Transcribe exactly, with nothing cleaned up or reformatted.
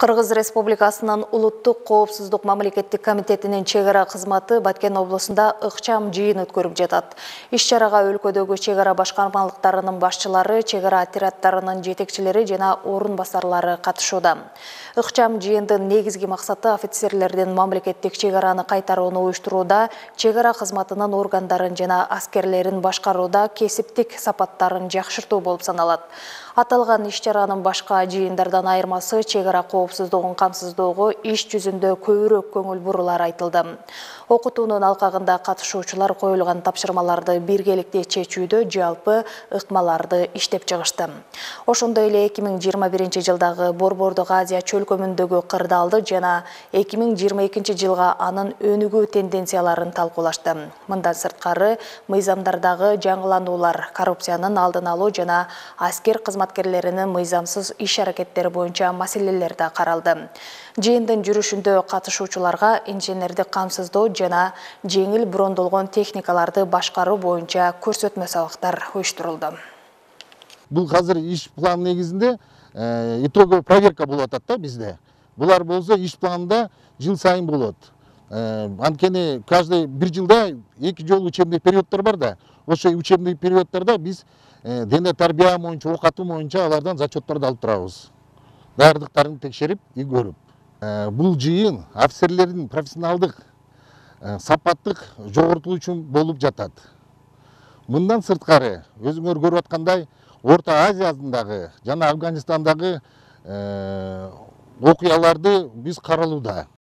Кыргыз Республикасынын Улуттук коопсуздук мамлекеттик комитетинин чек ара кызматы Баткен облусунда ыкчам жыйын өткөрүп жатат. Иш-чарага өлкөдөгү чек ара башкармалыктарынын башчылары, чек ара отряддарынын жетекчилери жана орун басарлары катышууда. Ыкчам жыйындын негизги максаты офицерлердин мамлекеттик чек араны кайтарууну уюштурууда, чек ара кызматынын органдарын жана аскерлерин башкарууда кесиптик сапаттарын жакшыртуу болуп саналат. Аталган иш-чаранын башка жыйындардан айырмасы чек ара коопсуздугун камсыздоого иш жүзүндө көбүрөөк көңүл бурулар айтылды. Окутуунун алкагында катышуучулар коюлган тапшырмаларды биргеликте чечүүдө жалпы ыкмаларды иштеп чыгышты. Ошондой эле эки миң жыйырма биринчи жылдагы Борбордук Азия чөлкөмүндөгү кырдаалды жана эки миң жыйырма экинчи жылга анын өнүгүү тенденцияларын талкуулашты. Мындан сырткары мыйзамдардагы жаңылануулар, коррупциянын алдын алуу жана аскер кызматкерлеринин мыйзамсыз иш-аракеттери боюнча маселелер да каралды. Жыйындын жүрүшүндө катышуучуларга инженердик камсыздоо жана жеңил брондолгон техникаларды башкаруу боюнча көрсөтмө сабактар уюштурулду. Бул азыр иш план негизинде итоговый проверка болуп атат да бизде. Булар болсо иш планында жыл сайын болот. Анткени каждый бир жылда эки жолу учебный периоддор бар да. Ошо учебный периоддордо биз дене тарбия боюнча, ок атуу боюнча алардан зачетторду алып турабыз. Даярдыктарын текшерип, көрүп. Бул жыйын офицерлердин профессионалдык, сапаттык жоготулуу үчүн болуп жатат. Мындан сырткары, өзүңөр көрүп аткандай, Орто Азиядагы жана Афганистандагы окуяларды биз каралууда.